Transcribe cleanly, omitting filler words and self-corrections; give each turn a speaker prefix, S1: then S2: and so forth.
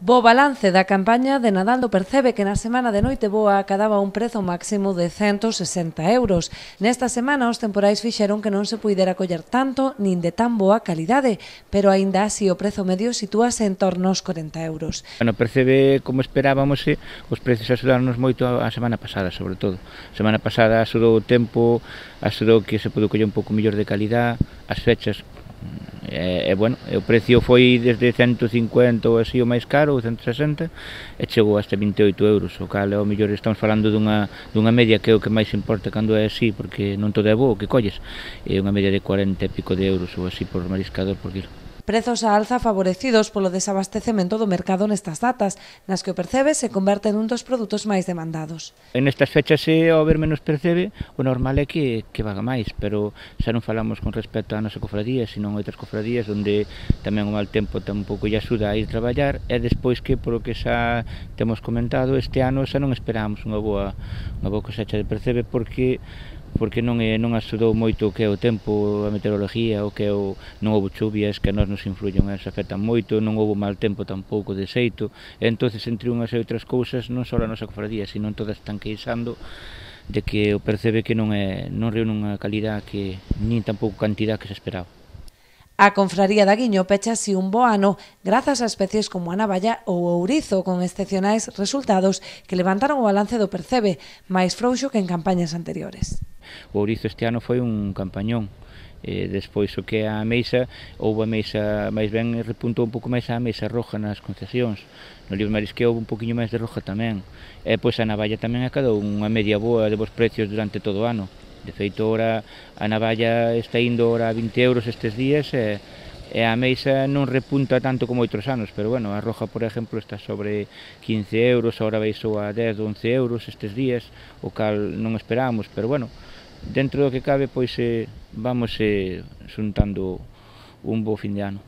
S1: Bo balance da campaña de Nadal do Percebe, que na semana de Noiteboa acadaba un prezo máximo de 160 euros. Nesta semana os temporais fixeron que non se puidera coller tanto nin de tan boa calidade, pero aínda así o prezo medio sitúase en torno aos 40 euros.
S2: No Percebe, como esperábamos, os precios axudaron moito a semana pasada, sobre todo. A semana pasada axudou o tempo, axudou que se pudo coller un pouco mellor de calidad, as fechas. Bueno, o precio foi desde 150 ou así o máis caro, ou 160, e chegou hasta 28 euros, o cal ao mellor estamos falando dunha media que é o que máis importa cando é así, porque non todo é bo o que colles, é unha media de 40 e pico de euros ou así por mariscador por kilo.
S1: Prezos á alza favorecidos polo desabastecemento do mercado nestas datas, nas que o Percebe se converte nun dos produtos máis demandados.
S2: En estas fechas, ao haber menos Percebe, o normal é que vaga máis, pero xa non falamos con respecto á nosa cofradía, senón outras cofradías onde tamén o mal tempo tampouco lle axuda a ir traballar, e despois que, polo que xa temos comentado, este ano xa non esperamos unha boa cosecha de Percebe porque non axudou moito o que é o tempo, a meteoroloxía, o que é non houve chuvias que a nós nos influyen, se afectan moito, non houve mal tempo tampouco de xeito, e entonces entre unhas e outras cousas non só a nosa cofradía, sino todas están queixando de que o Percebe que non reúne unha calidad que nin tampouco cantidad que se esperaba.
S1: A confraría da Guiño pecha así un bo ano grazas a especies como a navalla ou o ourizo, con excepcionais resultados que levantaron o balance do Percebe, máis frouxo que en campañas anteriores.
S2: O ourizo este ano foi un campañón. Despois o que é a ameixa, houve a ameixa máis ben, repuntou un pouco máis a ameixa roja nas concesións. No Libro Marisqueo houve un poquinho máis de roja tamén. E pois a navalla tamén acadou unha media boa de bons precios durante todo o ano. De feito, ora a navalla está indo ora a 20 euros estes días e a ameixa non repunta tanto como outros anos, pero bueno, a roja, por exemplo, está sobre 15 euros, agora baixou a 10 ou 11 euros estes días, o cal non esperábamos, pero bueno, dentro do que cabe, pois vamos xuntando un bo fin de ano.